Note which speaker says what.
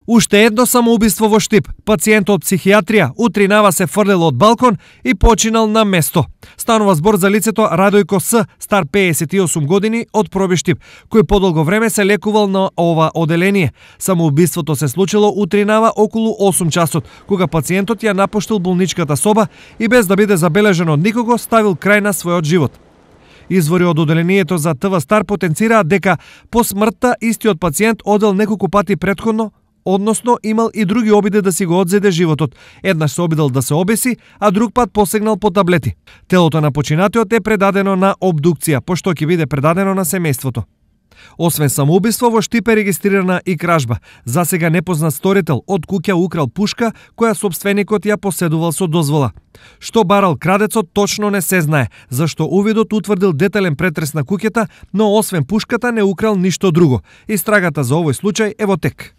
Speaker 1: Уште едно самоубиство во Штип. Пациент од психијатрија утринава се фрлел од балкон и починал на место. Станува збор за лицето Радојко С, стар 58 години, од Проби Штип, кој подолго време се лекувал на ова оделение. Самоубиството се случило утринава околу 8 часот, кога пациентот ја напуштил болничката соба и без да биде забележен од никого ставил крај на својот живот. Извори од оделението за ТВ Стар потенцираат дека по смртта истиот пациент одел неколку пати претходно, односно имал и други обиди да си го одзеде животот. Еднаш се обидел да се обеси, а друг пат посегнал по таблети. Телото на починатиот е предадено на обдукција, пошто ќе биде предадено на семејството. Освен самоубиство, во Штип е регистрирана и кражба. Засега непознат сторител од куќа украл пушка која сопственикот ја поседувал со дозвола. Што барал крадецот точно не се знае, зашто увидот утврдил детален претрес на куќата, но освен пушката не украл ништо друго. Истрагата за овој случај е во тек.